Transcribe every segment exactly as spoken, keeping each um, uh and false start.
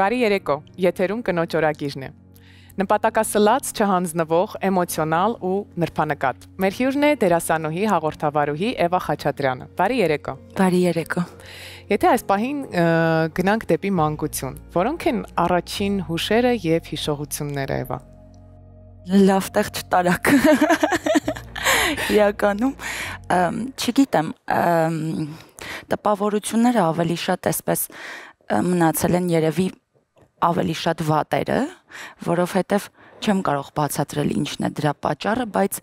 Բարի երեկո, եթերում կնոջ օրագիրն է։ Նպատակասլաց, չհանձնվող, էմոցիոնալ ու նրբանկատ։ Մեր հյուրն է դերասանուհի, հաղորդավարուհի Էվա Խաչատրյանը։ Բարի երեկո։ Բարի երեկո։ Եթե այս պահին գնանք դեպի մանկություն, որոնք են առաջին հուշերը եւ հիշողությունները, Էվա։ Լավ տեղ չտարակ։ Իրականում, չգիտեմ, տպավորությունները ավելի շատ այսպես մնացել են երևի ավելի շատ վատերը, որովհետև չեմ կարող բացատրել ինչն է դրա պատճառը, բայց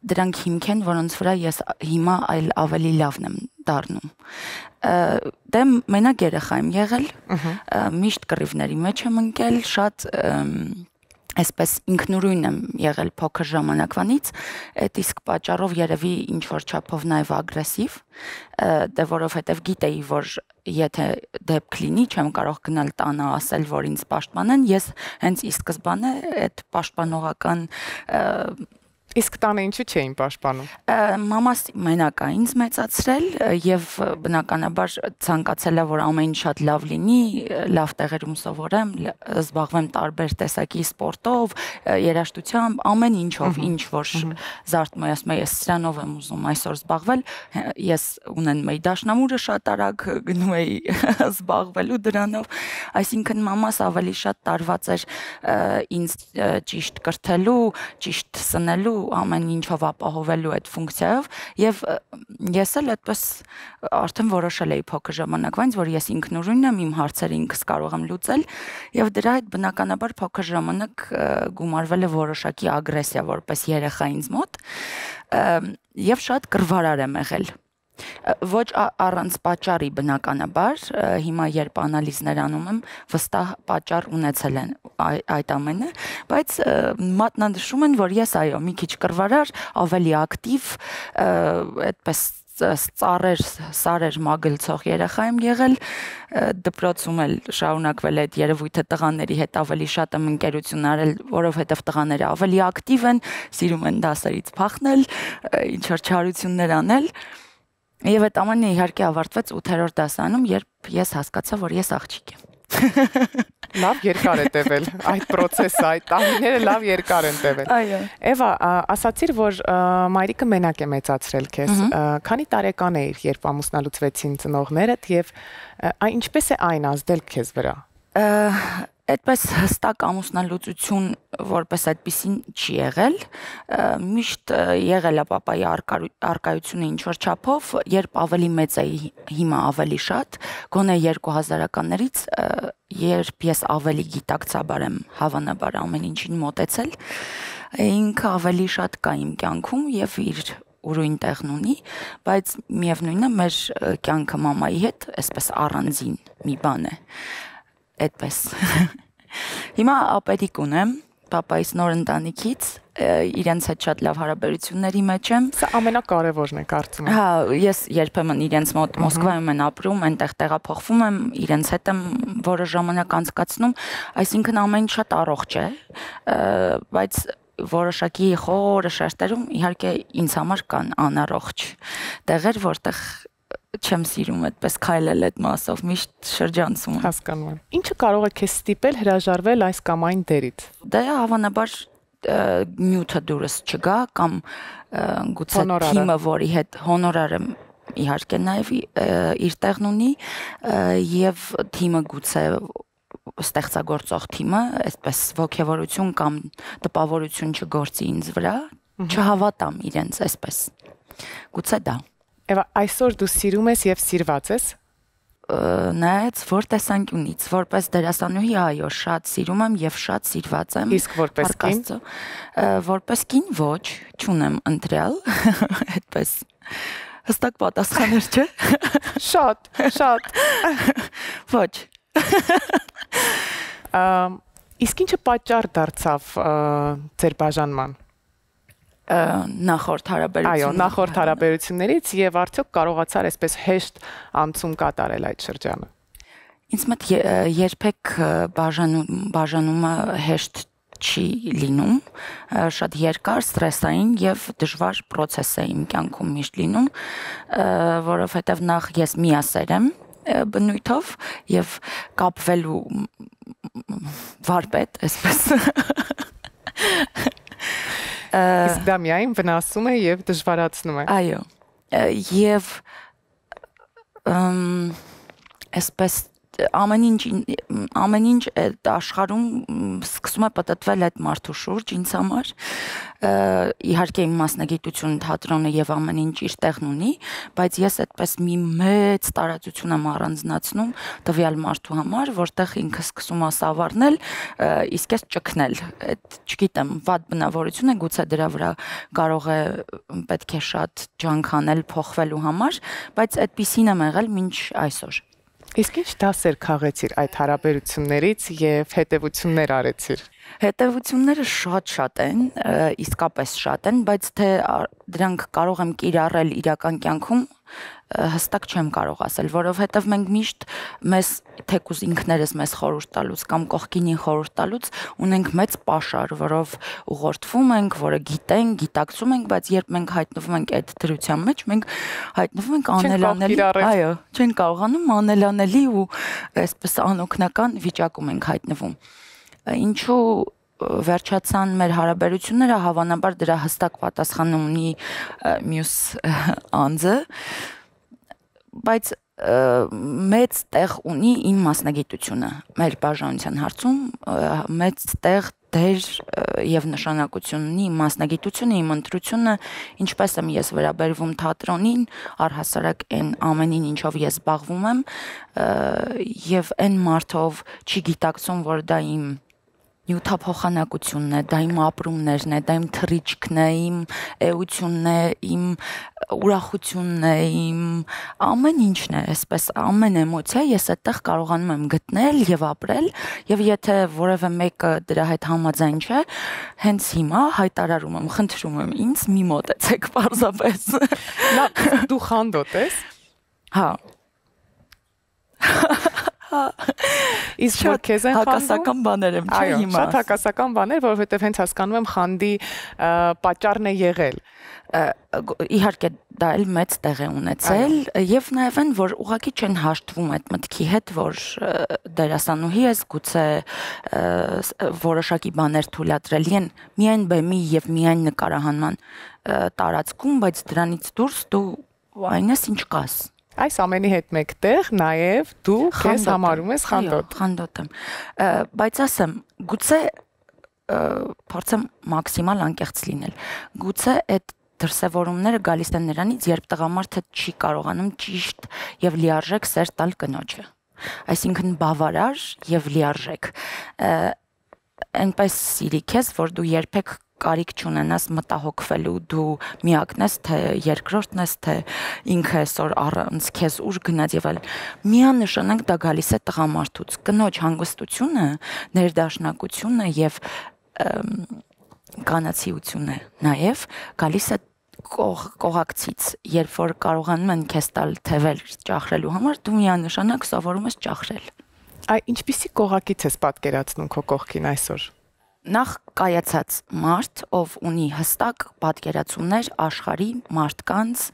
դրանք հիմք են, որոնց վրա ես հիմա այլ ավելի լավն եմ դառնում։ Դե մենակ երեխա եմ եղել, միշտ կռիվների մեջ եմ ընկել, շատ այսպես ինքնուրույն եմ եղել փոքր ժամանակվանից, այդ իսկ պատճառով երևի ինչ-որ չափով նաև ագրեսիվ, դե որովհետև գիտեի, որ եթե դեպք լինի, չեմ կարող գնալ տանը ասել, որ ինձ պաշտպանեն, ես հենց ի սկզբանե այդ պաշտպանողական Իսկ տանը ինչու չէին պաշտպանում։ Մամաս մենակ է ինձ մեծացրել եւ բնականաբար ցանկացել է, որ ամեն ինչ շատ լավ լինի, լավ տեղերում սովորեմ, զբաղվեմ տարբեր տեսակի սպորտով, երաժշտությամբ, ամեն ինչով, ինչ որ զարթնում է, ասում է, ես սրանով եմ ուզում այսօր զբաղվել, ես ունենում էի դաշնամուրը շատ արագ գնում էի զբաղվելու դրանով, այսինքն մամաս ավելի շատ տարված էր ինձ ճիշտ կրթելու, ճիշտ սնելու ամեն ինչով ապահովելու այդ ֆունկցիայով եւ ես էլ այդպես արդեն որոշել էի փոքր ժամանակվանից, որ ես ինքնուրույն եմ, իմ հարցերը ինքս կարող եմ լուծել եւ դրա հետ բնականաբար փոքր ժամանակ գումարվել է որոշակի ագրեսիա որպես երեխա ինձ մոտ եւ շատ կռվարար եմ եղել ոչ առանց պատճառի բնականաբար, հիմա երբ անալիզներ անում եմ, վստահ պատճառ ունեցել են այդ ամենը, բայց մատնանշում են, որ ես այո, մի քիչ կռվարար, ավելի ակտիվ, այդպես ծառեր, սարեր մագլցող երեխա եմ եղել, դպրոցում էլ շարունակվել է այդ երևույթը տղաների հետ ավելի շատ եմ ընկերություն արել, որովհետև տղաները ավելի ակտիվ են, սիրում են դասերից փախնել, ինչ-որ չարություններ անել Եվ այդ ամենը իհարկե ավարտվեց ութերորդ դասարանում, երբ ես հասկացա, որ ես աղջիկ եմ։ Լավ երկար է տևել այդ process-ը, այդ տարիները լավ երկար են տևել։ Այո։ Էվա, ասացիր, որ մայրիկը մենակ է մեծացրել քեզ։ Քանի տարեկան էիր, երբ ամուսնալուծվեցին ծնողներդ եւ ինչպես է այն ազդել քեզ վրա։ Այդպես հստակ ամուսնալուծություն որպես այդպեսին չի եղել, միշտ եղել է պապայի առկայությունը ինչ-որ չափով, երբ ավելի մեծ էի, հիմա ավելի շատ, գոնե երկու հազարականներից, երբ ես ավելի գիտակցաբար եմ հավանաբար ամեն ինչին մոտեցել, ինքը ավելի շատ կա իմ կյանքում եւ իր ուրույն տեղն ունի, բայց միևնույնն է մեր կյանքը մամայի հետ այսպես առանձին մի բան է։ Այդպես։ Հիմա ապերիկ ունեմ, պապայիս նոր ընտանիքից, իրենց հետ շատ լավ հարաբերությունների մեջ եմ։ Սա ամենակարևորն է, կարծում եմ։ Հա, ես երբեմն իրենց մոտ Մոսկվայում եմ ապրում, այնտեղ տեղափոխվում եմ, իրենց հետ եմ որոշ ժամանակ անցկացնում, այսինքն ամեն ինչ շատ առողջ է, բայց որոշակի խորը շերտերում իհարկե ինձ համար կան անառողջ տեղեր, որտեղ չեմ սիրում այդպես քայլել այդ մասով, միշտ շրջանցում եմ։ Հասկանում եմ։ Ինչը կարող է քեզ ստիպել հրաժարվել այս կամ այն դերից։ Դա հավանաբար նյութը դուրս չգա կամ գուցե թիմը, որի հետ հոնորարը իհարկե նաև իր տեղն ունի եւ թիմը գուցե ստեղծագործող թիմը, այսպես ոգևորություն կամ տպավորություն չգործի ինձ վրա, չհավատամ իրենց այսպես։ Գուցե դա Եվ այսօր դու սիրում ես եւ սիրված ես։ Նայած որ տեսանկյունից, որպես դերասանուհի, այո, շատ սիրում եմ եւ շատ սիրված եմ։ Իսկ որպես կին, որպես կին ոչ, չունեմ ընտրյալ, այդպես հստակ պատասխաներ չէ։ Շատ, շատ։ Ոչ։ Իսկ ինչը պատճառ դարձավ ձեր բաժանման։ Նախորդ հարաբերություններից։ Այո, նախորդ հարաբերություններից եւ արդյոք կարողացար այսպես հեշտ անցում կատարել այդ շրջանը։ Ինձ մոտ երբեք բաժանումը հեշտ չի լինում, շատ երկար, ստրեսային եւ դժվար process է իմ կյանքում միշտ լինում, որովհետեւ նախ ես միասեր եմ, բնույթով եւ կապվելու վարպետ, այսպես։ Իսկ դա միայն վնասում է եւ դժվարացնում է։ Այո։ Եվ այսպես ամեն ինչ ամեն ինչ այդ աշխարհում սկսում է պատտվել այդ մարդու շուրջ ինձ համար իհարկե իմ մասնագիտությունը թատրոնը եւ ամեն ինչ իր տեղն ունի, բայց ես այդպես մի մեծ տարածություն եմ առանձնացնում տվյալ մարդու համար, որտեղ ինքը սկսում է սավառնել, իսկ ես ճգնել, այդ չգիտեմ, վատ բնավորություն է, գուցե դրա վրա կարող է պետք է շատ ջանք անել փոխվելու համար, բայց այդպիսին եմ եղել մինչ այսօր։ Իսկ ինչ դասեր քաղեցիր այդ հարաբերություններից եւ հետեւություններ արեցիր։ Հետևությունները շատ-շատ են, իսկապես շատ են, բայց թե դրանք կարող եմ կիրառել իրական կյանքում, հստակ չեմ կարող ասել, որովհետև մենք միշտ մեզ թեկուզ ինքներս մեզ խորհուրդ տալուց կամ կողքինին խորհուրդ տալուց ունենք մեծ պաշար, որով ուղղորդվում ենք, որը գիտենք, գիտակցում ենք, բայց երբ մենք հայտնվում ենք այդ դրության մեջ, մենք հայտնվում ենք անելանելի, այո, չենք կարողանում անելանելի ու այսպես անօգնական վիճակում ենք հայտնվում։ Ինչու վերջացան մեր հարաբերությունները, հավանաբար դրա հստակ պատասխանը ունի մյուս անձը, բայց մեծ տեղ ունի իմ մասնագիտությունը մեր բաժանության հարցում, մեծ տեղ դեր եւ նշանակություն ունի իմ մասնագիտությունը, իմ ընտրությունը, ինչպես եմ ես վերաբերվում թատրոնին, առհասարակ այն ամենին, ինչով ես զբաղվում եմ, եւ այն մարդով չի գիտակցում, որ դա իմ նյութափոխանակությունն է, դա իմ ապրումներն է, դա իմ թռիչքն է, իմ էությունն է, իմ ուրախությունն է, իմ ամեն ինչն է, այսպես ամեն էմոցիա ես այդտեղ կարողանում եմ գտնել եւ ապրել, եւ եթե որևէ մեկը դրա հետ համաձայն չէ, հենց հիմա հայտարարում եմ, խնդրում եմ ինձ մի մոտեցեք պարզապես։ Դու խանդոտ ես։ Հա։ Իսկ որ քեզ են խանդում, հակասական բաներ եմ, չէ՞ հիմա։ Շատ հակասական բաներ, որովհետև հենց հասկանում եմ խանդի պատճառն է եղել։ Իհարկե դա էլ մեծ տեղ է ունեցել եւ նաեւ այն որ ուղղակի չեն հաշտվում այդ մտքի հետ, որ դերասանուհի ես, գուցե որոշակի բաներ թույլատրելի են միայն բեմի եւ միայն նկարահանման տարածքում, բայց դրանից դուրս դու այն ես ինչ կաս։ Այս ամենի հետ մեկտեղ նաև դու քեզ համարում ես խանդոտ։ Խանդոտ եմ։ Բայց ասեմ, գուցե փորձեմ մաքսիմալ անկեղծ լինել։ Գուցե այդ դրսևորումները գալիս են նրանից, երբ տղամարդը չի կարողանում ճիշտ եւ լիարժեք սեր տալ կնոջը։ Այսինքն բավարար եւ լիարժեք։ Այնպես սիրի քեզ, որ դու երբեք կարիք չունենաս մտահոգվելու, դու միակն ես, թե երկրորդն ես, թե ինքը այսօր առանց քեզ ուր գնաց եւ այլ։ Միանշանակ դա գալիս է տղամարդուց։ Կնոջ հանգստությունը, ներդաշնակությունը եւ կանացիությունը նաեւ գալիս է կողակցից, երբ որ կարողանում են քեզ տալ թևեր ճախրելու համար, դու միանշանակ սովորում ես ճախրել։ Այ ինչպիսի կողակից ես պատկերացնում քո կողքին այսօր։ Նախ կայացած մարդ, ով ունի հստակ պատկերացումներ աշխարհի մարդկանց,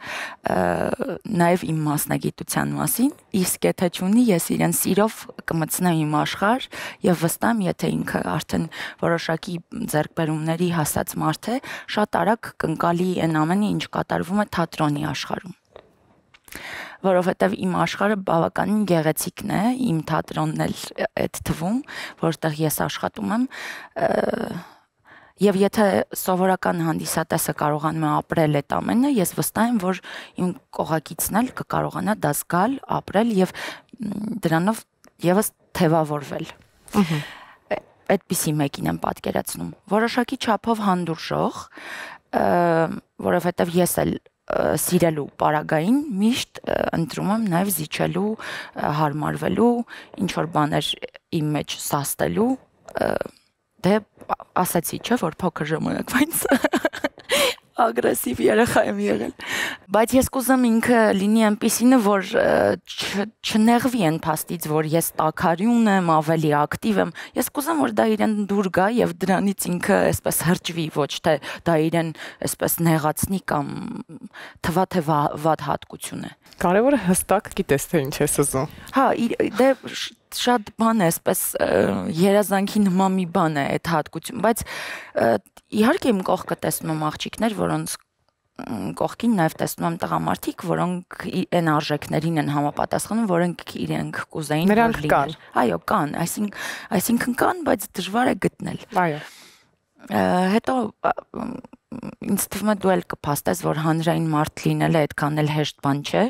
նաև իմ մասնագիտության մասին, իսկ եթե չունի, ես իրեն սիրով կմտցնեմ իմ աշխարհ եւ վստահ եմ, եթե ինքը արդեն որոշակի ձեռքբերումների հասած մարդ է, շատ արագ կընկալի այն ամենը, ինչ կատարվում է թատրոնի աշխարհում։ Որովհետև իմ աշխարհը բավականին գեղեցիկն է, իմ թատրոնն էլ այդ թվում, որտեղ ես աշխատում եմ, եւ եթե սովորական հանդիսատեսը կարողանում է ապրել այդ ամենը, ես վստահ եմ, որ իմ կողակիցն էլ կկարողանա դա զգալ, ապրել եւ դրանով եւս թևավորվել։ Այդպիսի մեկին եմ պատկերացնում։ Որոշակի չափով հանդուրժող, որովհետև ես էլ սիրելու պարագային միշտ ընտրում եմ նաև զիջելու, հարմարվելու, ինչ որ բաներ իմ մեջ սաստելու, դե ասացի, չէ, որ փոքր ժամանակվանից ագրեսիվ երեխա եմ եղել, Բայց ես կուզեմ ինքը լինի այնպիսինը, որ չնեղվի այն փաստից, որ ես տաքարյուն եմ, ավելի ակտիվ եմ։ Ես կուզեմ, որ դա իրեն դուր գա եւ դրանից ինքը այսպես հրճվի, ոչ թե դա իրեն այսպես նեղացնի կամ թվա թե վատ հատկություն է։ Կարևորը հստակ գիտես թե ինչ ես ուզում։ Հա, դե շատ բան է, այսպես երազանքի նման մի բան է այդ հատկություն, բայց իհարկե իմ կողքը տեսնում եմ աղջիկներ, որոնց կողքին նաև տեսնում եմ տղամարդիկ, որոնք այն արժեքներին են համապատասխանում, որոնք իրենք կուզեին որ լինեն։ Այո, կան, այսինքն, այսինքն կան, բայց դժվար է գտնել։ Այո։ Հետո ինձ թվում է դու էլ կփաստես, որ հանրային մարդ լինելը այդքան էլ հեշտ բան չէ,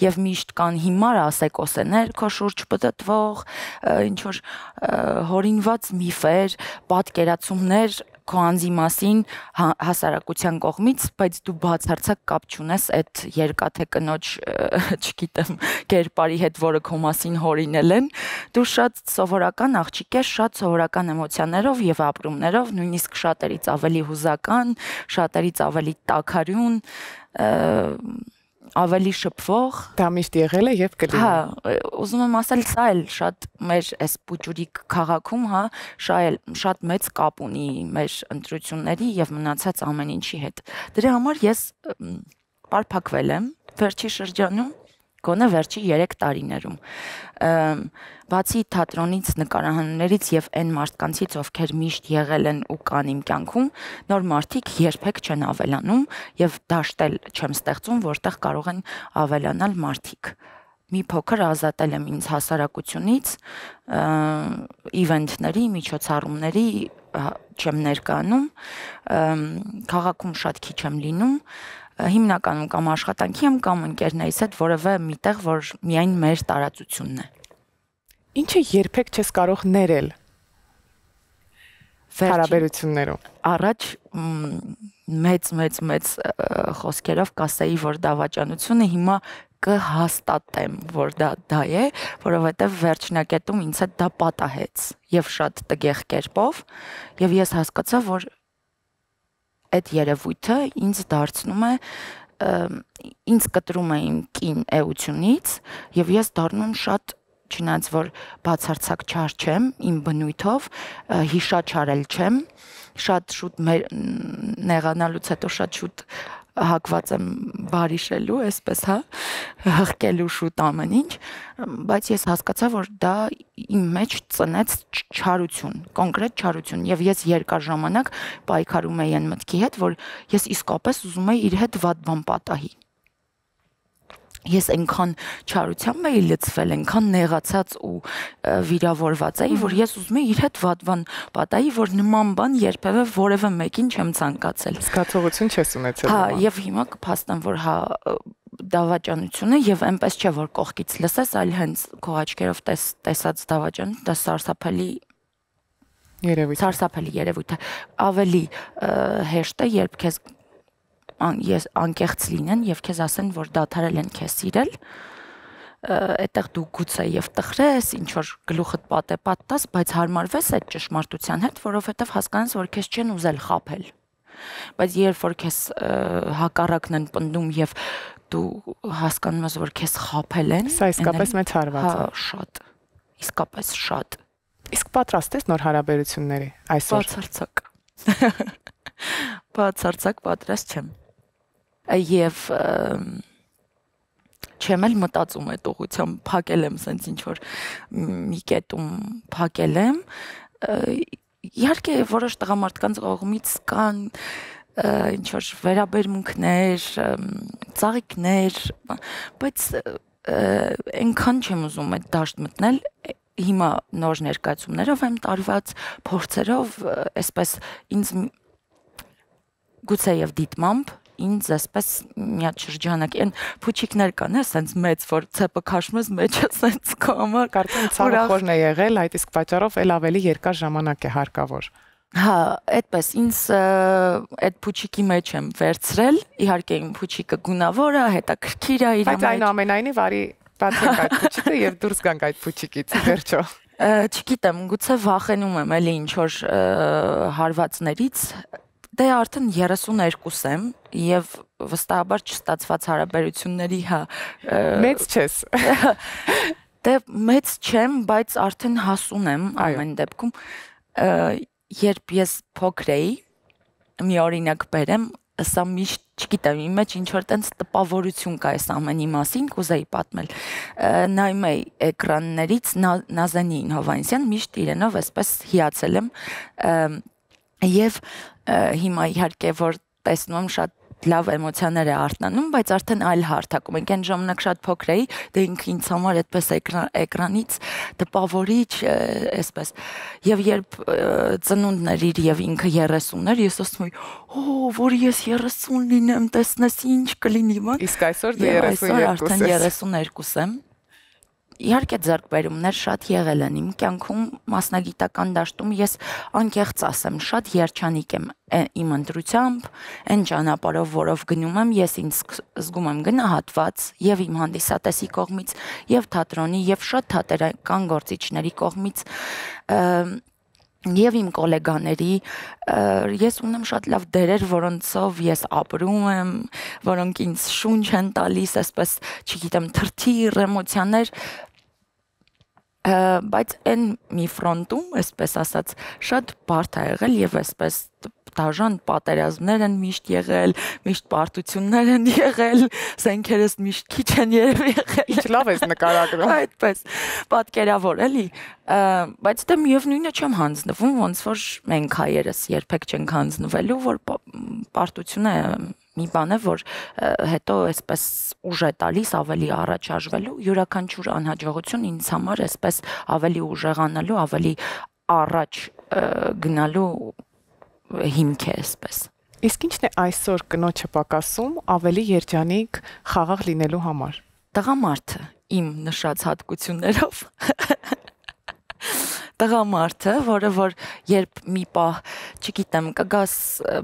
եւ միշտ կան հիմար ասեկոսեներ քո շուրջ պտտվող, ինչ որ հորինված միֆեր, պատկերացումներ քո անձի մասին հասարակության կողմից, բայց դու բացարձակ կապ չունես այդ երկաթե կնոջ, չգիտեմ, կերպարի հետ, որը քո մասին հորինել են, դու շատ սովորական աղջիկ ես, շատ սովորական էմոցիաներով եւ ապրումներով, նույնիսկ շատերից ավելի հուզական, շատերից ավելի տաքարյուն, ավելի շփվող։ Դա միշտ եղել է եւ կլինի։ Հա, ուզում եմ ասել, սա էլ շատ մեր այս Պուճուրիկ քաղաքում, հա, շատ մեծ կապ ունի մեր ընտրությունների եւ մնացած ամեն ինչի հետ։ Դրա համար ես պարփակվել եմ վերջի շրջանում, գոնե վերջի երեք տարիներում։ Բացի թատրոնից, նկարահանումներից եւ այն մարդկանցից, ովքեր միշտ եղել են ու կան իմ կյանքում, նոր մարդիկ երբեք չեն ավելանում եւ դաշտել չեմ ստեղծում, որտեղ կարող են ավելանալ մարդիկ։ Մի փոքր ազատել եմ ինձ հասարակությունից, իվենթների, միջոցառումների չեմ ներկայանում, քաղաքում շատ քիչ եմ լինում, հիմնականում կամ աշխատանքի եմ կամ ընկերներիս հետ որևէ միտեղ, որ միայն մեր տարածությունն է։ Ինչը երբեք չես կարող ներել հարաբերություններում։ Առաջ մեծ մեծ մեծ խոսքերով կասեի, որ դավաճանությունը հիմա կհաստատեմ, որ դա դա է, որովհետև վերջնակետում ինձ հետ դա պատահեց եւ շատ տգեղ կերպով, եւ ես հասկացա, որ այդ երևույթը ինձ դարձնում է ինձ կտրում է իմ կին էությունից եւ ես դառնում շատ չնայած որ բացարձակ չար չեմ իմ բնույթով, հիշաչարել չեմ, շատ շուտ նեղանալուց հետո շատ շուտ հակված եմ բարիշելու, այսպես, հա, հղկելու շուտ ամեն ինչ, բայց ես հասկացա, որ դա իմ մեջ ծնեց չարություն, կոնկրետ չարություն, եւ ես երկար ժամանակ պայքարում էի այն մտքի հետ, որ ես իսկապես ուզում էի իր հետ վատ բան պատահի։ Ես այնքան չարությամբ էի լցվել, այնքան նեղացած ու վիրավորված էի, որ ես ուզում էի իր հետ վատ բան պատահի, որ նման բան երբևէ որևէ մեկին չեմ ցանկացել։ Զգացողություն չես ունեցել։ Հա, եւ հիմա կփաստեմ, որ հա դավաճանությունը եւ այնպես չէ, որ կողքից լսես, այլ հենց քո աչքերով տեսած դավաճան, դա սարսափելի երևույթ։ Սարսափելի երևույթ է։ Ավելի հեշտ է, երբ քեզ ես անկեղծ լինեն եւ քեզ ասեն, որ դադարել են քեզ սիրել, այդտեղ դու գուցե եւ տխրես, ինչ որ գլուխդ պատե պատտաս, բայց հարմարվես այդ ճշմարտության հետ, որովհետեւ հասկանաս, որ քեզ չեն ուզել խաբել։ Բայց երբ որ քեզ հակառակն են պնդում եւ դու հասկանում ես, որ քեզ խաբել են, սա իսկապես մեծ հարված է։ Հա, շատ։ Իսկապես շատ։ Իսկ պատրաստ ես նոր հարաբերությունների այսօր։ Բացարձակ։ Բացարձակ պատրաստ չեմ։ Եվ չեմ էլ մտածում այդ ուղղությամբ, փակել եմ սենց ինչ որ մի կետում փակել եմ։ Իհարկե որոշ տղամարդկանց կողմից կան ինչ որ վերաբերմունքներ, ծաղիկներ, բայց այնքան չեմ ուզում այդ դաշտ մտնել։ Հիմա նոր ներկայացումներով եմ տարված, փորձերով, այսպես ինձ գուցե եւ դիտմամբ ինձ այսպես մի հատ շրջանակ են փուչիկներ կան, ասենց մեծ, որ ցեպը քաշում ես մեջը ասենց կամար, կարծեմ ցավը խորն է եղել, այդ իսկ պատճառով էլ ավելի երկար ժամանակ է հարկավոր։ Հա, այդպես ինձ այդ փուչիկի մեջ եմ վերցրել, իհարկե իմ փուչիկը գունավոր է, հետաքրքիր է իր մեջ։ Բայց այնուամենայնիվ արի բացենք այդ փուչիկը եւ դուրս գանք այդ փուչիկից, վերջո։ Չգիտեմ, գուցե վախենում եմ էլի ինչ որ հարվածներից, Դե արդեն երեսուներկու եմ եւ վստահաբար չստացված հարաբերությունների հա մեծ չես։ Դե մեծ չեմ, բայց արդեն հասուն եմ ամեն դեպքում։ Երբ ես փոքր էի, մի օրինակ բերեմ, սա միշտ չգիտեմ, իմ մեջ ինչ որ տենց տպավորություն կա այս ամենի մասին, կուզեի պատմել։ Նայում էի էկրաններից Նազանին Հովհաննիսյան, միշտ իրենով այսպես հիացել եմ եւ հիմա իհարկե որ տեսնում եմ շատ լավ էմոցիաներ է արթնանում, բայց արդեն այլ հարթակում ենք։ Այն ժամանակ շատ փոքր էի, դե ինքը ինձ համար այդպես էկրանից տպավորիչ, այսպես։ Եվ երբ ծնունդն էր իր եւ ինքը երեսուն էր, ես ասում էի, «Օ, որ ես երեսուն լինեմ, տեսնես ինչ կլինի բան»։ Իսկ այսօր դու երեսուն երկու ես։ Արդեն երեսուն երկու եմ։ Իհարկե ձեռքբերումներ շատ եղել են իմ կյանքում, մասնագիտական դաշտում ես անկեղծ ասեմ, շատ երջանիկ եմ իմ ընտրությամբ, այն ճանապարհով, որով գնում եմ, ես ինձ զգում եմ գնահատված եւ իմ հանդիսատեսի կողմից, եւ թատրոնի, եւ շատ թատերական գործիչների կողմից, եւ իմ գոլեգաների, ես ունեմ շատ լավ դերեր, որոնցով ես ապրում եմ, որոնք ինձ շունչ են տալիս, այսպես, չգիտեմ, թրթիռ էմոցիաներ, բայց այն մի ֆրոնտում, այսպես ասած, շատ բարդ է եղել եւ այսպես դաժան պատերազմներ են միշտ եղել, միշտ պարտություններ են եղել, զենքերս միշտ քիչ են երևի եղել։ Ինչ լավ ես նկարագրում։ Այդպես, պատկերավոր էլի, բայց դե միևնույնը չեմ հանձնվում, ոնց որ մենք հայերս երբեք չենք հանձնվելու, որ պարտությունը մի բան է, որ հետո այսպես ուժ է տալիս ավելի առաջարժվելու, յուրաքանչյուր անհաջողություն ինձ համար այսպես ավելի ուժեղանալու, ավելի առաջ գնալու հիմք է այսպես։ Իսկ ինչն է այսօր կնոջը պակասում ավելի երջանիկ խաղաղ լինելու համար։ Տղամարդը իմ նշած հատկություններով։ Տղամարդը, որը որ երբ մի պահ, չգիտեմ, կգաս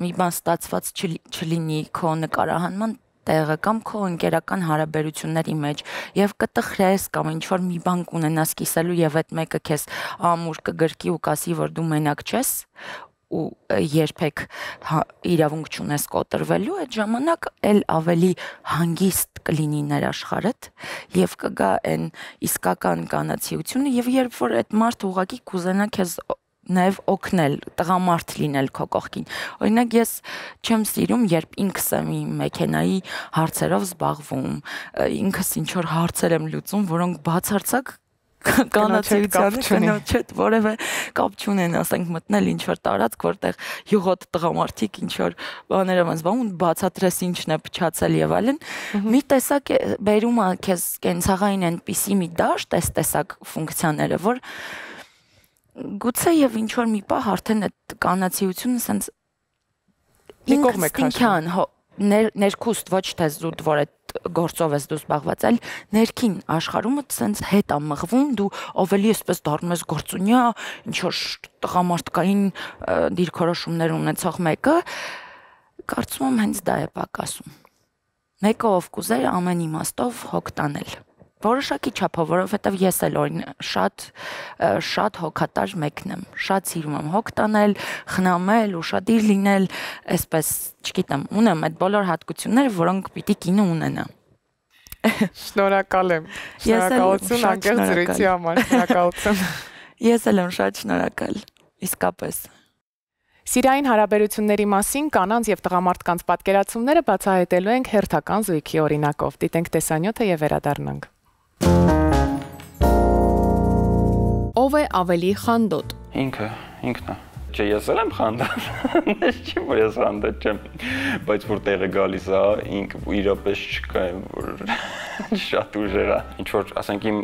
մի բան ստացված չլինի քո նկարահանման տեղը կամ քո ընկերական հարաբերությունների մեջ եւ կտխրես կամ ինչ որ մի բան կունենաս կիսելու եւ այդ մեկը քեզ ամուր կգրկի ու կասի, որ դու մենակ չես ու երբեք իրավունք չունես կոտրվելու, այդ ժամանակ էլ ավելի հանգիստ կլինի ներաշխարհդ եւ կգա այն իսկական կանացիությունը եւ երբ որ այդ մարդը ուղղակի կուզենա քեզ նաև օգնել, տղամարդ լինել քո կողքին։ Օրինակ ես չեմ սիրում, երբ ինքս եմ իմ մեքենայի հարցերով զբաղվում, ինքս ինչ որ հարցեր եմ լուծում, որոնք բացարձակ կանացիության կնոջ հետ որևէ կապ չունեն, ասենք մտնել ինչ որ տարածք, որտեղ յուղոտ տղամարդիկ ինչ որ բաներ են զբաղվում, բացատրես ինչն է փչացել եւ այլն։ Մի տեսակ բերում է քեզ կենցաղային այնպիսի մի դաշտ, այս տեսակ ֆունկցիաները, որ գուցե եւ ինչ որ մի պահ արդեն այդ կանացիությունը sense մի կողմ է քաշում։ Ներքուստ ոչ թե զուտ, որ այդ գործով ես դու զբաղված, այլ ներքին աշխարհումը sense հետ է մղվում, դու ավելի էսպես դառնում ես գործունյա, ինչ որ տղամարդկային դիրքորոշումներ ունեցող մեկը, կարծում եմ հենց դա է պակասում։ Մեկը ով կուզեր ամեն իմաստով հոգ տանել։ Որոշակի չափով, որովհետև ես էլ օրին շատ շատ հոգատար մեկն եմ, շատ սիրում եմ հոգ տանել, խնամել, ուշադիր լինել, այսպես, չգիտեմ, ունեմ այդ բոլոր հատկությունները, որոնք պիտի կինը ունենա։ Շնորհակալ եմ։ Շնորհակալություն անկեղծ զրույցի համար, շնորհակալություն։ Ես էլ եմ շատ շնորհակալ, իսկապես։ Սիրային հարաբերությունների մասին կանանց եւ տղամարդկանց պատկերացումները բացահայտելու ենք հերթական զույգի օրինակով։ Դիտենք տեսանյութը եւ վերադառնանք։ Ով է ավելի խանդոտ։ Ինքը, ինքն է։ Չէ, ես էլ եմ խանդած։ Ես չի որ ես խանդած չեմ, բայց որ տեղը գալիս է, ինքը իրապես չկա, որ շատ ուժեղ է։ Ինչ որ, ասենք իմ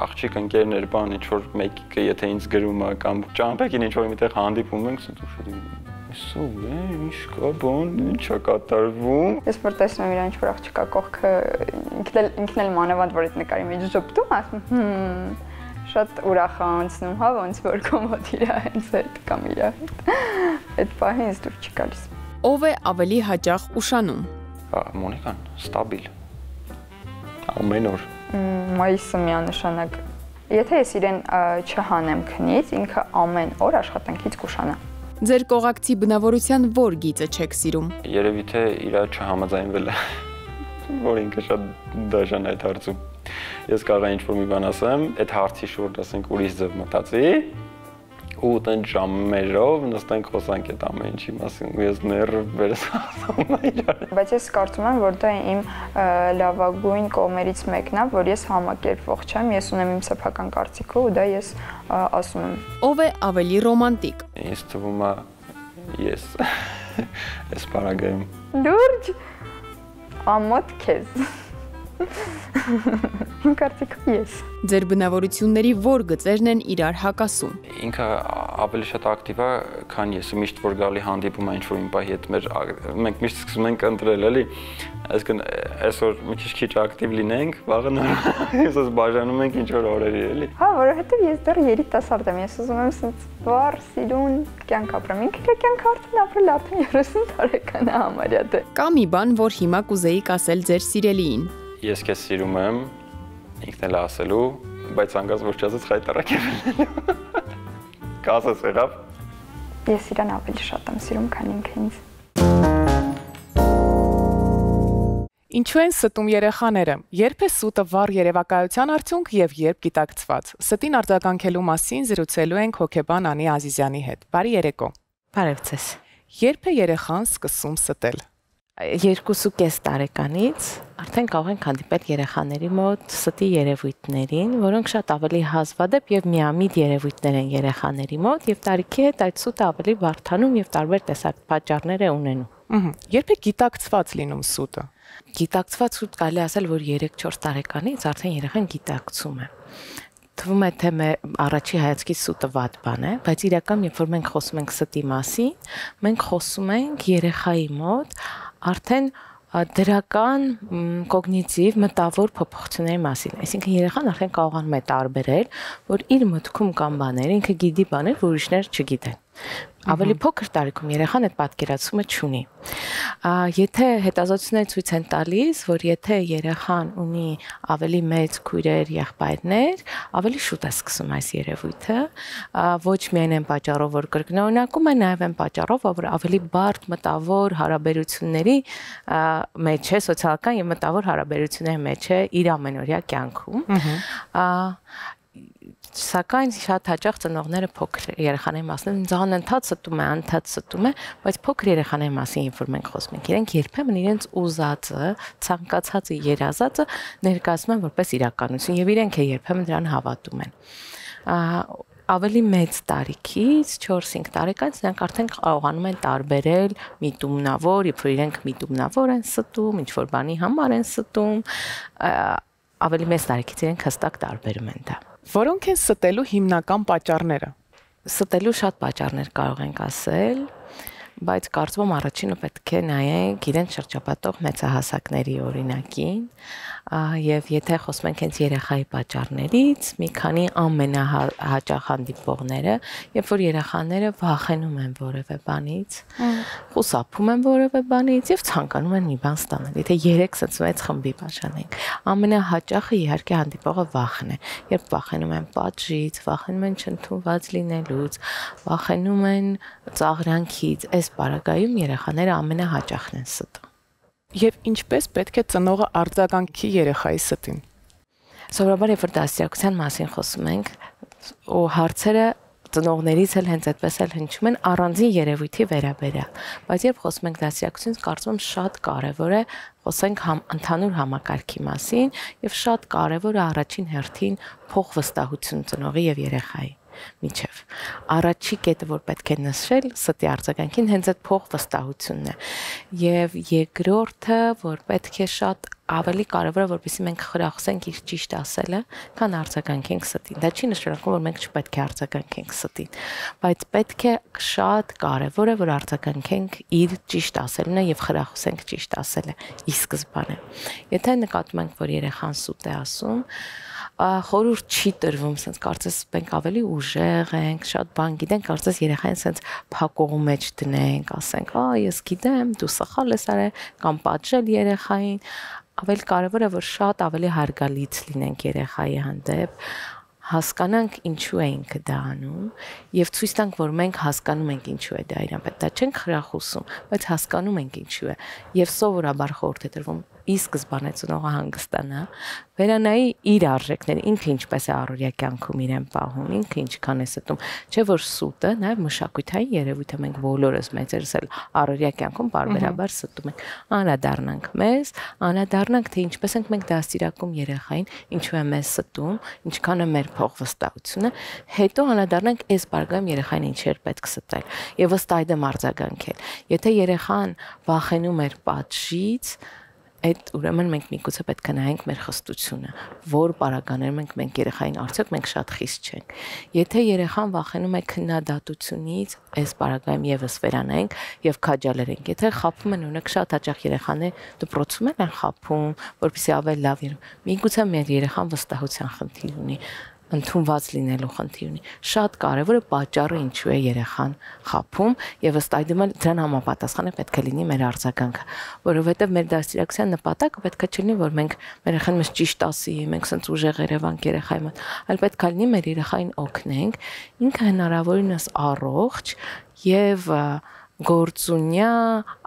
աղջիկ ընկերներ բան, ինչ որ մեկը եթե ինձ գրում է կամ ճամփեքին ինչ որ միտեղ հանդիպում ենք, սու է, ինչ կա բան, ինչ է կատարվում։ Ես որ տեսնում եմ իրան ինչ որ աղջիկա կողքը, ինքն էլ մանավանդ որ այդ նկարի մեջ ժպտում, ասում հմ շատ ուրախ է անցնում, հա, ոնց որ կոմոդ իր հենց այդ կամ իր հետ։ Այդ պահին ինձ դուր չի գալիս։ Ով է ավելի հաճախ ուշանում։ Մոնիկան, ստաբիլ։ Ամեն օր։ Մայիսը միանշանակ։ Եթե ես իրեն չհանեմ քնից, ինքը ամեն օր աշխատանքից կուշանա։ Ձեր կողակցի բնավորության որ գիծը չեք սիրում։ Երևի թե իրա չհամաձայնվել է, որ ինքը շատ դաժան է այդ հարցում։ Ես կարող եմ ինչ-որ մի բան ասեմ, այդ հարցի շուրջ ասենք ուրիշ ձև մտածի, ու տեն ժամերով նստենք խոսանք այդ ամեն ինչի մասին, ու ես ները վերս ասում եմ իրար։ Բայց ես կարծում եմ, որ դա իմ լավագույն կողմերից մեկն է, որ ես համակերպվող չեմ, ես ունեմ իմ սեփական կարծիքը ու դա ես ասում եմ։ Ով է ավելի ռոմանտիկ։ Ինձ թվում է ես այս պարագայում։ Լուրջ ամոթ քեզ։ Իմ կարծիքով ես։ Ձեր բնավորությունների որ գծերն են իրար հակասում։ Ինքը ավելի շատ ակտիվ է, քան ես, միշտ որ գալի հանդիպում է ինչ-որ մի պահի հետ մեր մենք միշտ սկսում ենք ընտրել, էլի։ Այսինքն այսօր մի քիչ ակտիվ լինենք, վաղը ես բաժանում ենք ինչ-որ օրերի, էլի։ Հա, որովհետև ես դեռ երիտասարդ եմ, ես ուզում եմ ասած վառ, սիրուն կյանք ապրեմ։ Ինքը կյանք արդեն ապրել արդեն երեսուն տարեկան է համարյա դե։ Կա մի բան, որ հիմա կուզեիք ասել ձեր սիրելիին։ Ես քեզ սիրում եմ, ինքն էլ ասելու, բայց անգամ ոչ չասած խայտարակ եմ լինելու։ Կասես եղավ։ Ես իրան ավելի շատ եմ սիրում, քան ինքը ինձ։ Ինչու են ստում երեխաները։ Երբ է սուտը վառ երևակայության արդյունք եւ երբ գիտակցված։ Ստին արձագանքելու մասին զրուցելու ենք հոկեբան Անի Ազիզյանի հետ։ Բարի երեկո։ Բարև ձեզ։ Երբ է երեխան սկսում ստել։ Երկուսու կես տարեկանից արդեն կարող ենք հանդիպել երեխաների մոտ ստի երևույթներին, որոնք շատ ավելի հազվադեպ եւ միամիտ երևույթներ են երեխաների մոտ եւ տարիքի հետ այդ սուտը ավելի բարդանում եւ տարբեր տեսակ պատճառներ է ունենում։ Ահա։ Երբ է գիտակցված լինում սուտը։ Գիտակցված սուտ կարելի ասել, որ երեք-չորս տարեկանից արդեն երեխան գիտակցում է։ Թվում է թե առաջի հայացքից սուտը վատ բան է, բայց իրական երբ որ մենք խոսում ենք ստի մասին, մենք խոսում ենք երեխայի մոտ արդեն դրական կոգնիտիվ մտավոր փոփոխությունների մասին։ Այսինքն երեխան արդեն կարողանում է տարբերել, որ իր մտքում կան բաներ, ինքը գիտի բաներ, որ ուրիշներ չգիտեն։ Ավելի փոքր տարիքում երեխան այդ պատկերացումը չունի։ Եթե հետազոտությունները ցույց են տալիս, որ եթե երեխան ունի ավելի մեծ քույրեր, եղբայրներ, ավելի շուտ է սկսում այս երևույթը, ոչ միայն այն պատճառով, որ կրկնօրինակում է, նաև այն պատճառով, որ ավելի բարդ մտավոր հարաբերությունների մեջ է, սոցիալական եւ մտավոր հարաբերությունների մեջ է իր ամենօրյա կյանքում։ Սակայն շատ հաճախ ծնողները փոքր երեխաների մասին անընդհատ ստում է, անընդհատ ստում է, բայց փոքր երեխաների մասին երբ որ մենք խոսում ենք, իրենք երբեմն իրենց ուզածը, ցանկացածը, երազածը ներկայացնում են որպես իրականություն եւ իրենք երբեմն դրան հավատում են։ Ավելի մեծ տարիքից չորս-հինգ տարեկանից նրանք արդեն կարողանում են տարբերել միտումնավոր, երբ որ իրենք միտումնավոր են ստում, ինչ որ բանի համար են ստում, ավելի մեծ տարիքից իրենք հստակ տարբերում են դա։ Որոնք են ստելու հիմնական պատճառները։ Ստելու շատ պատճառներ կարող ենք ասել, բայց կարծում եմ առաջինը պետք է նայենք իրենց շրջապատող մեծահասակների օրինակին, եւ եթե խոսում ենք հենց երեխայի պատճառներից, մի քանի ամենահաճախ հանդիպողները, երբ որ երեխաները վախենում են որևէ բանից, խուսափում են որևէ բանից եւ ցանկանում են մի բան ստանալ։ Եթե երեք սենց մեծ խմբի բաժանենք, ամենահաճախը իհարկե հանդիպողը վախն է, երբ վախենում են պատժից, վախենում են չընդունված լինելուց, վախենում են ծաղրանքից, այս պարագայում երեխաները ամենահաճախն են ստում։ Եվ ինչպես պետք է ծնողը արձագանքի երեխայի ստին։ Սովորաբար երբ որ դաստիարակության մասին խոսում ենք, ու հարցերը ծնողներից էլ հենց այդպես էլ հնչում են առանձին երևույթի վերաբերյալ, բայց երբ խոսում ենք դաստիարակությունից, կարծում եմ շատ կարևոր է խոսենք ընդհանուր համակարգի մասին եւ շատ կարևոր է առաջին հերթին փոխվստահություն ծնողի եւ երեխայի միջև։ Առաջի կետը, որ պետք է նշել ստի արձագանքին, հենց այդ փոխվստահությունն է։ Եվ երկրորդը, որ պետք է շատ ավելի կարևոր է, որպեսզի մենք խրախուսենք իր ճիշտ ասելը, քան արձագանքենք ստին։ Դա չի նշանակում, որ մենք չպետք է արձագանքենք ստին, բայց պետք է շատ կարևոր է, որ արձագանքենք իր ճիշտ ասելն եւ խրախուսենք ճիշտ ասելը ի սկզբանե։ Եթե նկատում ենք, որ երեխան սուտ է ասում, խորհուրդ չի տրվում, ասես կարծես մենք ավելի ուժեղ ենք, շատ բան գիտենք, կարծես երեխային ասես փակողու մեջ դնենք, ասենք, «Ա, ես գիտեմ, դու սխալ ես արել», կամ պատժել երեխային, ավելի կարևոր է, որ շատ ավելի հարգալից լինենք երեխայի հանդեպ, հասկանանք ինչու է ինքը դա անում եւ ցույց տանք, որ մենք հասկանում ենք ինչու է դա իրան պետք։ Դա չենք խրախուսում, բայց հասկանում ենք ինչու է եւ սովորաբար խորհուրդ է տրվում ի սկզբանե ծնողը հանգստանա, վերանայի իր արժեքները, ինքը ինչպես է առօրյա կյանքում իրեն պահում, ինքը ինչքան է ստում, չէ որ սուտը, նաև մշակութային երևույթը մենք բոլորս մեծերս էլ առօրյա կյանքում բարբերաբար ստում ենք։ Անդրադառնանք մեզ, անդրադառնանք թե ինչպես ենք մենք դաստիարակում երեխային, ինչու է մեզ ստում, ինչքան է մեր փոխվստահությունը, հետո անդրադառնանք այս բարգայում երեխային ինչեր պետք ստել եւ ըստ այդմ արձագանքել։ Եթե երեխան վախենում էր պատժից, այդ ուրեմն մենք միգուցե պետք է նայենք մեր խստությունը, որ պարագաներում ենք մենք երեխային, արդյոք մենք շատ խիստ չենք։ Եթե երեխան վախենում է քննադատությունից, այս պարագայում եւս վերանայենք եւ քաջալերենք։ Եթե խաբում են, օրինակ շատ հաճախ երեխաներ դպրոցում են խաբում, որպեսզի ավելի լավ իրեն։ Միգուցե մեր երեխան վստահության խնդիր ունի, ընդունված լինելու խնդիր ունի։ Շատ կարևոր է պատճառը ինչու է երեխան խաբում եւ ըստ այդմ դրան համապատասխան է պետք է լինի մեր արձագանքը, որովհետեւ մեր դաստիարակության նպատակը պետք է չլինի, որ մենք մեր երեխան մեզ ճիշտ ասի, մենք սենց ուժեղ երևանք երեխայի մոտ, այլ պետք է լինի մեր երեխային օգնենք, ինքը հնարավորինս առողջ եւ գործունյա,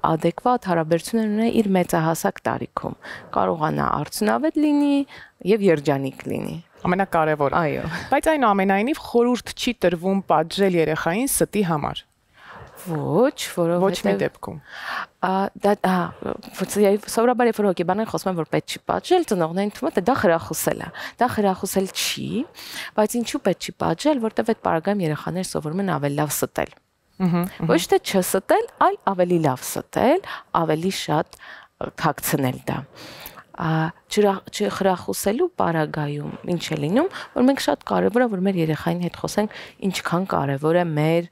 adekvat հարաբերություններ ունենա իր մեծահասակ տարիքում։ Կարողանա արդյունավետ լինի եւ երջանիկ լինի։ Ամենակարևորը։ Այո։ Բայց այնուամենայնիվ խորհուրդ չի տրվում պատժել երեխային ստի համար։ Ոչ, որովհետեւ ոչ մի դեպքում։ Դա հա, սովորաբար երբ որ հոգեբաններ խոսում են, որ պետք չի պատժել, ծնողներին թվում է դա խրախուսել է։ Դա խրախուսել չի, բայց ինչու պետք չի պատժել, որտեղ այդ պարագայում երեխաները սովորում են ավելի լավ ստել։ Ոչ թե չստել, այլ ավելի լավ ստել, ավելի շատ թաքցնել դա։ Չխրախուսելու պարագայում ինչ է լինում, որ մենք շատ կարևոր է, որ մեր երեխային հետ խոսենք, ինչքան կարևոր է մեր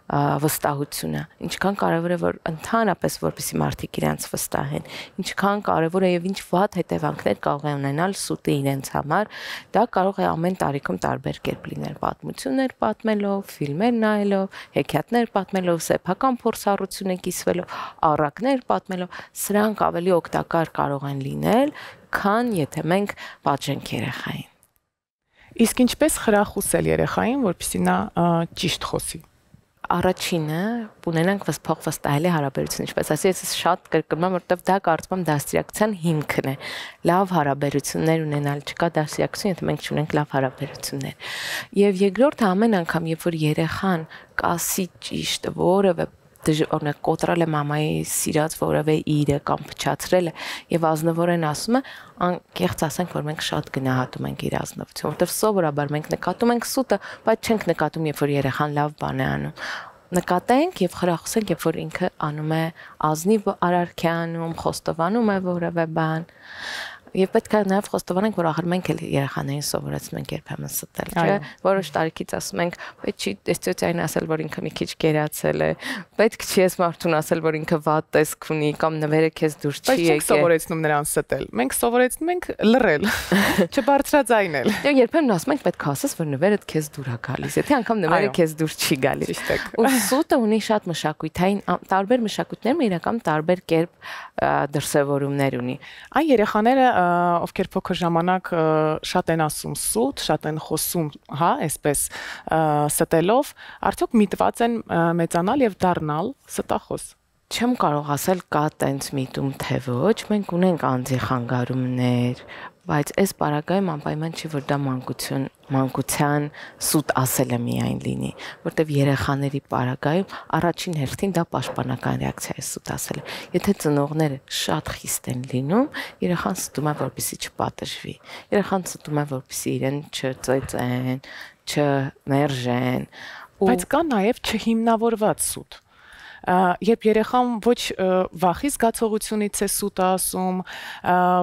վստահությունը, ինչքան կարևոր է, որ ընդհանրապես որպեսզի մարդիկ իրենց վստահեն, ինչքան կարևոր է եւ ինչ վատ հետևանքներ կարող է ունենալ սուտը իրենց համար, դա կարող է ամեն տարիքում տարբեր կերպ լինել, պատմություններ պատմելով, ֆիլմեր նայելով, հեքիաթներ պատմելով, սեփական փորձառությունը կիսվելով, առակներ պատմելով, սրանք ավելի օգտակար կարող են լինել, քան եթե մենք պատժենք երեխային։ Իսկ ինչպես խրախուսել երեխային, որպեսզի նա ճիշտ խոսի։ Առաջինը ունենանք փոխվստահելի հարաբերություն, ինչպես ասի, ես շատ կրկնում եմ, որովհետև դա կարծում եմ դաստիարակության հիմքն է։ Լավ հարաբերություններ ունենալ, չկա դաստիարակություն, եթե մենք չունենք լավ հարաբերություններ։ Եվ երկրորդը ամեն անգամ, երբ որ երեխան կասի ճիշտ որևէ օրինակ կոտրել է մամայի սիրած որևէ իրը կամ փչացրել է եւ ազնվորեն ասում է, անկեղծ ասենք, որ մենք շատ գնահատում ենք իր ազնվությունը, որովհետեւ սովորաբար մենք նկատում ենք սուտը, բայց չենք նկատում, երբ որ երեխան լավ բան է անում։ Նկատենք եւ խրախուսենք, երբ որ ինքը անում է ազնիվ արարքյանում, խոստովանում է որևէ բան։ Եվ պետք է նաև խոստովանենք, որ ախր մենք էլ երեխաներին սովորեցնում ենք երբեմն ստել, չէ՞։ Որոշ տարիքից ասում ենք, պետք չի այս ծոցային ասել, որ ինքը մի քիչ գերացել է, պետք չի այս մարդուն ասել, որ ինքը վատ տեսք ունի կամ նվերը քեզ դուր չի եկել։ Բայց չենք սովորեցնում նրան ստել։ Մենք սովորեցնում ենք լռել, չբարձրաձայնել։ Դե երբեմն ասում ենք, պետք է ասես, որ նվերը քեզ դուր է գալիս, եթե անգամ նվերը քեզ դուր չի գալիս։ Ու սուտը ունի շատ մշակութային, տարբեր մշակույթներում իրական տարբեր կերպ դրսևորումներ ունի։ Այն երեխաները ովքեր փոքր ժամանակ շատ են ասում սուտ, շատ են խոսում, հա, այսպես ստելով, արդյոք միտված են մեծանալ եւ դառնալ ստախոս։ Չեմ կարող ասել կա տենց միտում թե ոչ, մենք ունենք անձի խանգարումներ, բայց այս պարագայում անպայման չի, որ դա մանկություն, մանկության սուտ ասելը միայն լինի, որտեվ երեխաների պարագայում առաջին հերթին դա պաշտպանական ռեակցիա է սուտ ասելը։ Եթե ծնողները շատ խիստ են լինում, երեխան ստում է, որպեսզի չպատժվի։ Երեխան ստում է, որպեսզի իրեն չծեծեն, չմերժեն։ Բայց կա նաև չհիմնավորված սուտ։ Երբ երեխան ոչ վախի զգացողությունից է սուտ ասում,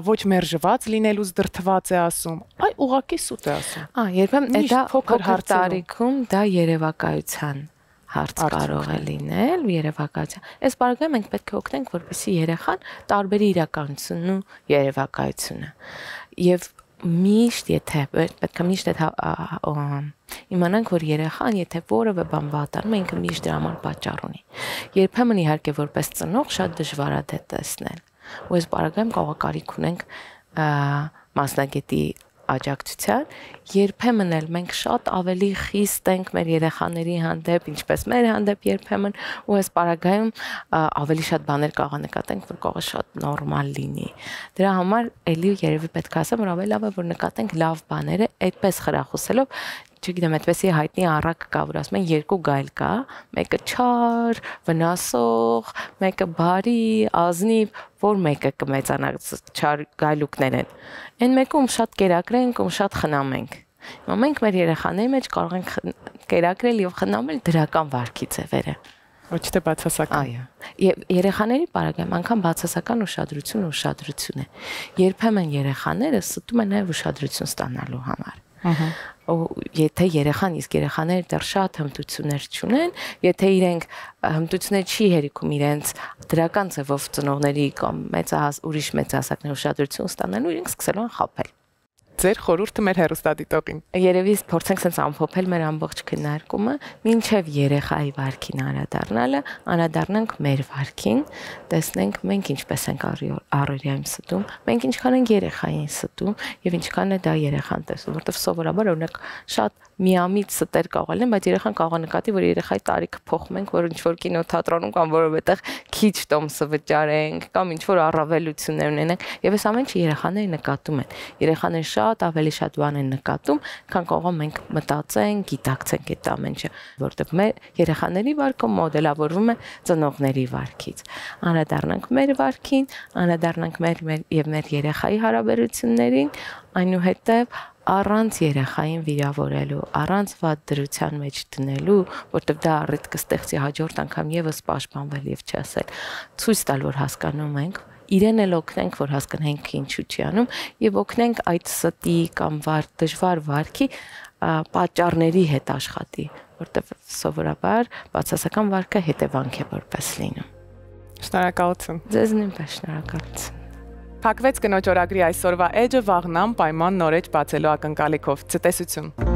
ոչ մերժված լինելուց դրթված է ասում, այ ուղղակի սուտ է ասում։ Ա, երբեմն դա փոքր հարցարիքում դա երևակայության հարց կարող է լինել, երևակայության։ Այս բaragայում մենք պետք է օգնենք, որպեսզի երեխան տարբերի իրականությունն ու երևակայությունը։ Եվ միշտ եթե պետք է միշտ իմանանք, որ երեխան եթե որևէ բան վատանում է, ինքը միշտ դրա համար պատճառ ունի։ Երբեմն իհարկե որպես ծնող շատ դժվար է դա տեսնել։ Ու այս բaragայում կարող կարիք ունենք մասնագետի աջակցության, երբեմն էլ մենք շատ ավելի խիստ ենք մեր երեխաների հանդեպ, ինչպես մեր հանդեպ երբեմն, ու այս պարագայում ավելի շատ բաներ կարող նկատենք, որ կարող է շատ նորմալ լինի։ Դրա համար էլի երևի պետք է ասեմ, որ ավելի լավ է, որ նկատենք լավ բաները, այդպես խրախուսելով, չգիտեմ, այդպեսի հայտնի առակ կա, որ ասում են երկու գայլ կա, մեկը չար, վնասող, մեկը բարի, ազնիվ, որ մեկը կմեծանա, չար գայլուկներ են։ Այն մեկը ում շատ կերակրենք, ում շատ խնամենք։ Հիմա մենք մեր երեխաների մեջ կարող ենք կերակրել եւ խնամել դրական վարքի ձևերը։ Ոչ թե բացասական։ Այո։ Եվ երեխաների պարագայում անգամ բացասական ուշադրություն ուշադրություն է։ Երբեմն երեխաները ստում են նաև ուշադրություն ստանալու համար։ Ահա։ Ու եթե երեխան, իսկ երեխաները դեռ շատ հմտություններ չունեն, եթե իրենք հմտություններ չի հերիքում իրենց դրական ձևով ծնողների կամ մեծահաս ուրիշ մեծահասակների ուշադրություն ստանալու, իրենք սկսելու են խաբել։ Ձեր խորհուրդը մեր հեռուստադիտողին։ Երևի փորձենք sense ամփոփել մեր ամբողջ քննարկումը, մինչև երեխայի վարքին անդրադառնալը, անդրադառնանք մեր վարքին, տեսնենք մենք ինչպես ենք առօրյայում ստում, մենք ինչքան ենք երեխային ստում եւ ինչքան է դա երեխան տեսնում, որովհետեւ սովորաբար օրինակ շատ միամիտ ստեր կարող են, բայց երեխան կարող է նկատի, որ երեխայի տարիքը փոխում ենք, որ ինչ որ կինոթատրոնում կամ որովհետեւ քիչ տոմսը վճարենք կամ ինչ որ առավելություններ ունենենք, եւ այս ամենը երեխաները նկատում են։ Երեխաները շատ ավելի շատ բան են նկատում, քան կարող մենք մտածենք, գիտակցենք այդ ամենը, որովհետեւ մեր երեխաների վարքը մոդելավորվում է ծնողների վարքից։ Անդրադառնանք մեր վարքին, անդրադառնանք մեր եւ մեր երեխայի հարաբերություններին, այնուհետեւ առանց երեխային վիրավորելու, առանց վատ դրության մեջ դնելու, որտեղ դա առիթ կստեղծի հաջորդ անգամ եւս պաշտպանվել եւ չասել, ցույց տալ, որ հասկանում ենք, իրեն էլ օգնենք, որ հասկանանք ինչու չի անում եւ օգնենք այդ ստի կամ վար դժվար վարքի պատճառների հետ աշխատի, որտեղ սովորաբար բացասական վարքը հետևանք է որպես լինում։ Շնորհակալություն։ Ձեզ նույնպես շնորհակալություն։ Փակվեց կնոջ օրագրի այսօրվա էջը, վաղն պայման նոր էջ բացելու ակնկալիքով։ Ցտեսություն։